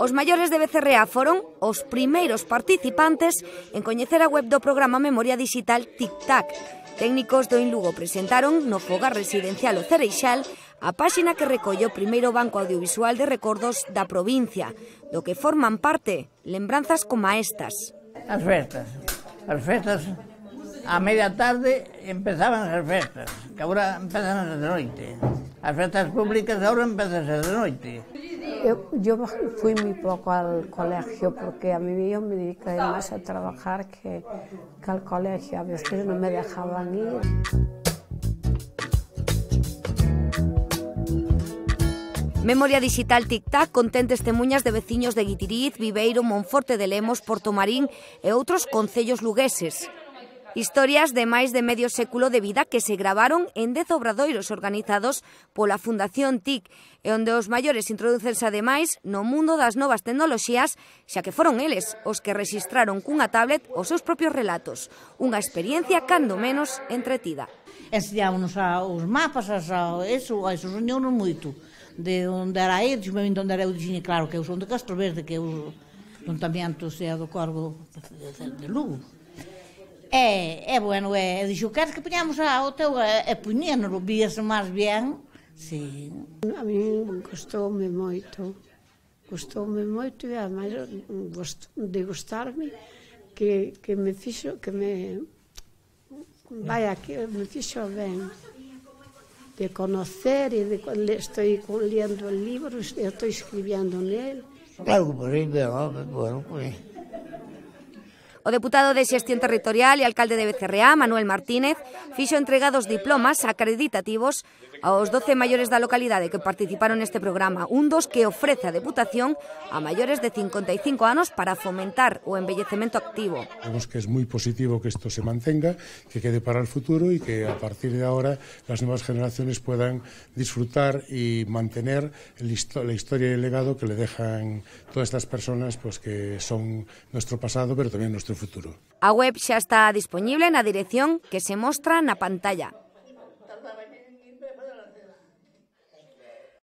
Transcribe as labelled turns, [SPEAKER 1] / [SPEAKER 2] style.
[SPEAKER 1] Os maiores de Becerrea foron os primeiros participantes en coñecer a web do programa Memoria Digital Tic-Tac. Técnicos do Inlugo presentaron no fogar residencial O Cereixal a páxina que recolle o primeiro banco audiovisual de recordos da provincia, do que forman parte lembranzas como estas.
[SPEAKER 2] As festas, a media tarde empezaban as festas, que agora empezan de noite. As festas públicas agora empezan de noite.
[SPEAKER 3] Yo fui muy poco al colegio porque a mí yo me dediqué más a trabajar que al colegio. A veces no me dejaban ir.
[SPEAKER 1] Memoria Digital Tic-Tac contén testemuñas de veciños de Guitiriz, Viveiro, Monforte de Lemos, Portomarín e outros concellos lugueses. Historias de máis de medio século de vida que se gravaron en 10 obradoiros organizados pola Fundación TIC e onde os maiores introdúcense ademais no mundo das novas tecnoloxías, xa que foron eles os que rexistraron cunha tablet os seus propios relatos. Unha experiencia cando menos entretida.
[SPEAKER 2] Enseñámonos os mapas, eso soñounos moito. De onde era ir, de onde era eu dixen, claro, que eu son de Castro Verde, que eu juntamiento sea do Corvo de Lugo. Bueno, dixo, queres que poñamos o teu, poñénolo, víase máis ben, sí.
[SPEAKER 3] A mí gustoume moito, e ademais de gustarme, que me fixo, me fixo ben, de conocer, e estou lendo o libro, estou escribiendo nele.
[SPEAKER 4] Claro que por aí, bueno, pues...
[SPEAKER 1] O deputado de Xestión Territorial e alcalde de Becerrea, Manuel Martínez, fixo entrega dos diplomas acreditativos aos 12 maiores da localidade que participaron neste programa, un dos que ofrece a Deputación a maiores de 55 anos para fomentar o envellecemento activo.
[SPEAKER 5] Vemos que es muy positivo que esto se mantenga, que quede para el futuro y que a partir de ahora las nuevas generaciones puedan disfrutar y mantener la historia y el legado que le dejan todas estas personas, pues que son nuestro pasado, pero también nuestro futuro.
[SPEAKER 1] A web xa está disponible na dirección que se mostra na pantalla.